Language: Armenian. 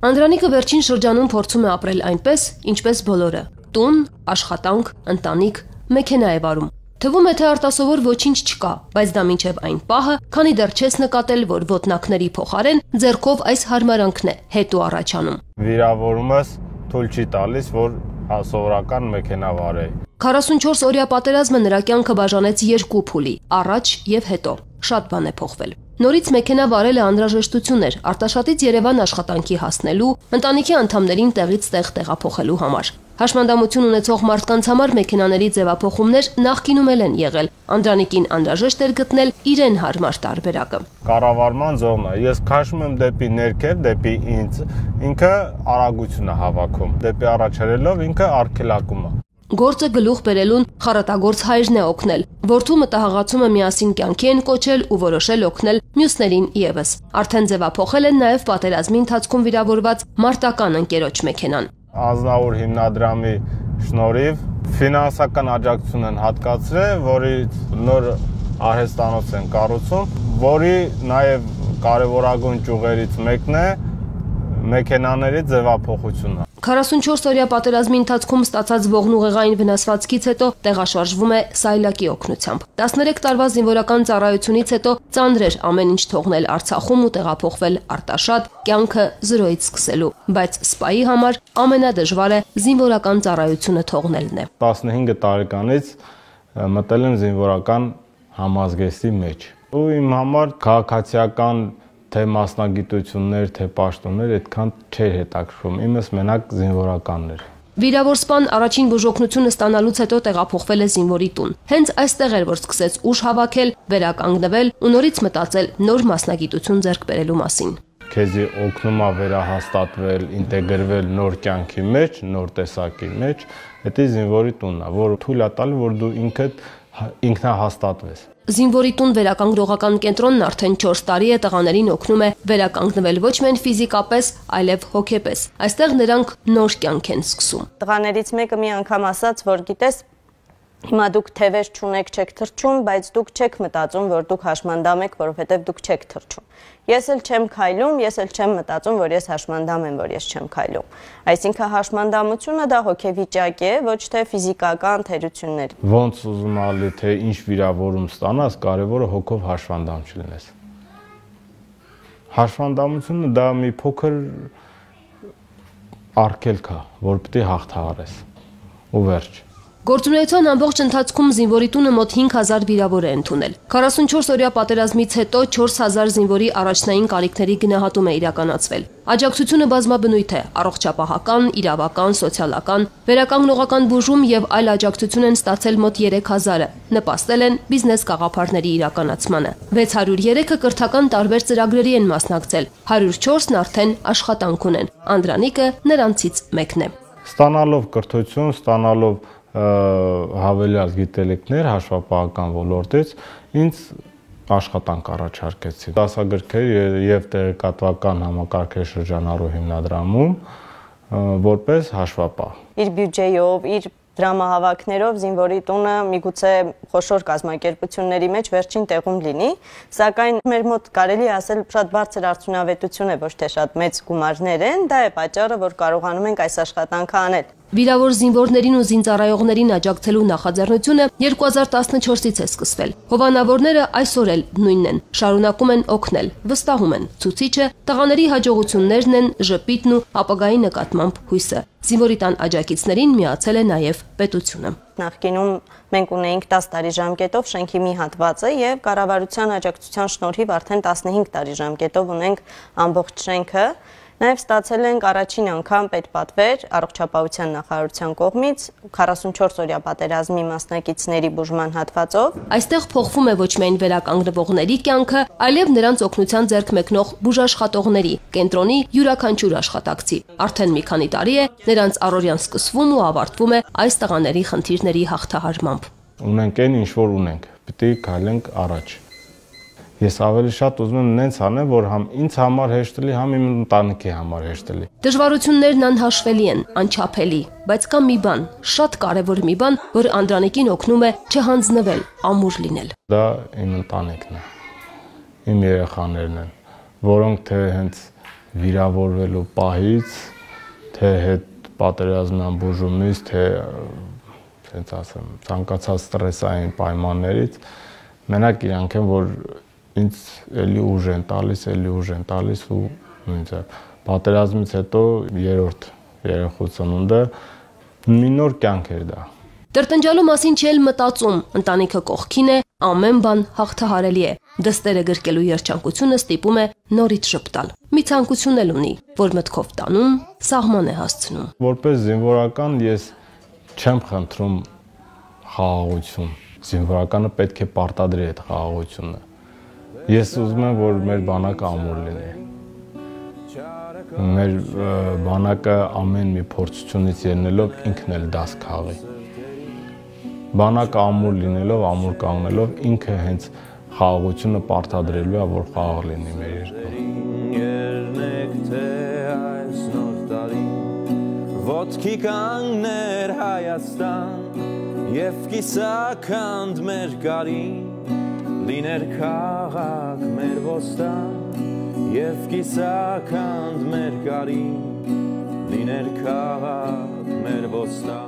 Անդրանիկը վերջին շրջանում փորձում է ապրել այնպես, ինչպես բոլորը՝ տուն, աշխատանք, ընտանիք, մեքենա է վարում։ Թվում է, թե արտասովոր ոչինչ չկա, բայց դա մինչև այն պահը, քանի դեռ չես նկատել, որ ոտնակների փոխարեն ձեռքով այս հարմարանքն է հետո առաջանում։ Վիրավորումս թույլ չի տալիս, որ սովորական մեքենա վարեի։ 44-օրյա պատերազմը նրա կյանքը բաժանեց երկու փուլի՝ առաջ եւ հետո։ Շատ բան է փոխվել։ Նորից մեքենա վարելը անհրաժեշտություն էր Արտաշատից Երևան աշխատանքի հասնելու, ընտանիքի անդամներին տեղից տեղ տեղափոխելու համար։ Հաշմանդամություն ունեցող մարդկանց համար մեքենաների ձևափոխումներ նախկինում են եղել։ Անդրանիկին անհրաժեշտ էր գտնել իրեն հարմար տարբերակը։ Կառավարման ձողն է։ Ես քաշում եմ դեպի ներքև, դեպի ինձ, ինքը արագություն է հավաքում։ Դեպի առաջ հրելով ինքը արգելակում է։ Գործը գլուխ բերելուն խառատագործ հայրն է օգնել։ Որդու մտահղացումը միասին կյանքի են կոչել ու որոշել օգնել մյուսներին եւս։ Արդեն ձևափոխել են նաեւ պատերազմի ընթացքում վիրավորված մարտական ընկերոջ մեքենան։ Ազնավուր հիմնադրամի շնորհիվ ֆինանսական աջակցություն են հատկացրել, որից նոր արհեստանոց են կառուցում, որի նաեւ կարևորագույն ճյուղերից մեկն է մեքենաների ձևափոխությունը։ 44-օրյա պատերազմի ընթացքում ստացած ողնուղեղային վնասվածքից հետո տեղաշարժվում է Սայլակի օգնությամբ։ 13 տարվա զինվորական ծառայությունից հետո ծանր էր ամեն ինչ թողնել Արցախում ու տեղափոխվել Արտաշատ, կյանքը զրոյից սկսելու, բայց սպայի համար ամենադժվարը զինվորական ծառայությունը թողնելն է։ 15 տարեկանից մտել եմ զինվորական համազգեստի մեջ։ Ու իմ համար քաղաքացիական թե մասնագիտություններ, թե պաշտոններ այդքան չէր հետաքրքրում։ Իմս մենակ զինվորականն էր։ Վիրավոր սպան առաջին բուժօգնությունը ստանալուց հետո տեղափոխվել է զինվորի տուն։ Հենց այստեղ էր, որ սկսեց ուժ հավաքել, վերականգնվել ու նորից մտածել նոր մասնագիտություն ձեռք բերելու մասին։ Քեզի օգնում է վերահաստատվել, ինտեգրվել նոր կյանքի մեջ, նոր տեսակի մեջ։ Դա զինվորի տունն է, որ թույլ է տալի, որ դու ինքնահաստատվես։ Զինվորի տուն վերականգնողական կենտրոնն արդեն 4 տարի է տղաներին օգնում է վերականգնվել ոչ միայն ֆիզիկապես, այլև հոգեպես։ Այստեղ նրանք նոր կյանք են սկսում։ Տղաներից մեկը մի անգամ ասաց, որ գիտես, հիմա դուք թևեր չունեք, չեք թռչում, բայց դուք չեք մտածում, որ դուք հաշմանդամ եք, որովհետև դուք չեք թռչում։ Ես էլ չեմ քայլում, ես էլ չեմ մտածում, որ ես հաշմանդամ եմ, որ ես չեմ քայլում։ Այսինքն հաշմանդամությունը դա հոգեվիճակ է, ոչ թե ֆիզիկական թերություններ։ Ոնց ուզում ալի, թե ինչ վիրավորում ստանաս, կարևորը հոգով հաշվանդամ չլինես։ Հաշվանդամությունը դա մի փոքր արգելք է, որ պետք է հաղթահարես։ Ու վերջ։ Գործունեության ամբողջ ընթացքում զինվորի տունը մոտ 5000 վիրավոր է ընդունել։ 44-օրյա պատերազմից հետո 4000 զինվորի առաջնային կարիքների գնահատում է իրականացվել։ Աջակցությունը բազմաբնույթ է՝ առողջապահական, իրավական, սոցիալական, վերականգնողական բուժում եւ այլ աջակցություն են ստացել մոտ 3000-ը, նպաստել են բիզնես գաղափարների իրականացմանը։ 603-ը կրթական տարբեր ծրագրերի են մասնակցել, 104-ն արդեն աշխատանք ունեն։ Անդրանիկը նրանցից մեկն է։ Ստանալով կրթություն, ստանալով հավելյալ գիտելիքներ հաշվապահական ոլորտից ինձ աշխատանք առաջարկեցին։ Դասագրքեր եւ տեղեկատվական համակարգեր շրջանառու հիմնադրամում որպես հաշվապահ։ Իր բյուջեով, իր դրամահավաքներով զինվորի տունը միգուցե խոշոր կազմակերպությունների մեջ վերջին տեղում լինի, սակայն մեր մոտ կարելի ասել շատ բարձր արդյունավետություն է, ոչ թե շատ մեծ գումարներ են, դա է պատճառը, որ կարողանում ենք այս աշխատանքը անել։ Վիրավոր զինվորներին ու զինծառայողներին աջակցելու նախաձեռնությունը 2014-ից է սկսվել։ Հովանավորները այսօր էլ նույնն են, շարունակում են օգնել, վստահում են։ Ցուցիչը տղաների հաջողություններն են, ժպիտն ու ապագայի նկատմամբ հույսը։ Զինվորի տան աջակիցներին միացել է նաև պետությունը։ Նախկինում մենք ունեինք 10 տարի ժամկետով շենքի մի հատվածը եւ կառավարության աջակցության շնորհիվ արդեն 15 տարի ժամկետով ունենք ամբողջ շենքը։ Նաև ստացել ենք առաջին անգամ պետպատվեր առողջապահության նախարարության կողմից 44-օրյա պատերազմի մասնակիցների բուժման հատվածով։ Այստեղ փոխվում է ոչ միայն վերականգնվողների կյանքը, այլև նրանց օգնության ձեռք մեկնող բուժաշխատողների, կենտրոնի յուրաքանչյուր աշխատակցի։ Արդեն մի քանի տարի է նրանց առօրյան սկսվում ու ավարտվում է այս տղաների խնդիրների հաղթահարմամբ։ Ունենք այն, ինչ որ ունենք, պետք է քայլենք առաջ։ Ես ավելի շատ ուզում եմ նենց անեմ, որ համ ինձ համար հեշտ լինի, համ իմ ընտանիքի համար հեշտ լինի։ Դժվարություններն անհաշվելի են, անչափելի, բայց կա մի բան, շատ կարևոր մի բան, որ Անդրանիկին օգնում է չհանձնվել, ամուր լինել։ Դա իմ ընտանիքն է, իմ երեխաներն են, որոնք թե հենց վիրավորվելու պահից, թե հետ պատերազմյան բուժումից, թե ասենց ասեմ, ցանկացած ստրեսային պայմաններից, մենակ իրանք են, որ ինձ էլի ուժ են տալիս ու ինձ պատերազմից հետո երրորդ երեխու ծնունդը մի նոր կյանք էր դա։ Տրտնջալու մասին չել մտածում, ընտանիքը կողքին է, ամեն բան հաղթահարելի է։ Դստերը գրկելու երջանկությունը ստիպում է նորից շփտալ։ Մի ցանկություն էլ ունի, որ մտքով տանում, սահման է հասցնում։ Որպես զինվորական ես չեմ խնդրում խաղաղություն։ Զինվորականը պետք է պարտադրի այդ խաղաղությունը։ Ես ուզում եմ, որ մեր բանակը ամուր լինի։ Մեր բանակը ամեն մի փորձությունից ելնելով ինքն էլ դաս քաղի։ Բանակը ամուր լինելով, ամուր կանգնելով ինքը հենց խաղաղությունը պարտադրելու է, որ խաղաղ լինի մեր երկրում։ Ոտքի կանգներ Հայաստան եւ կիսաքանդ մեր գարին, լիներ քաղաք մեր ոստան եւ կիսաքանդ մեր գարին, լիներ քաղաք մեր ոստան։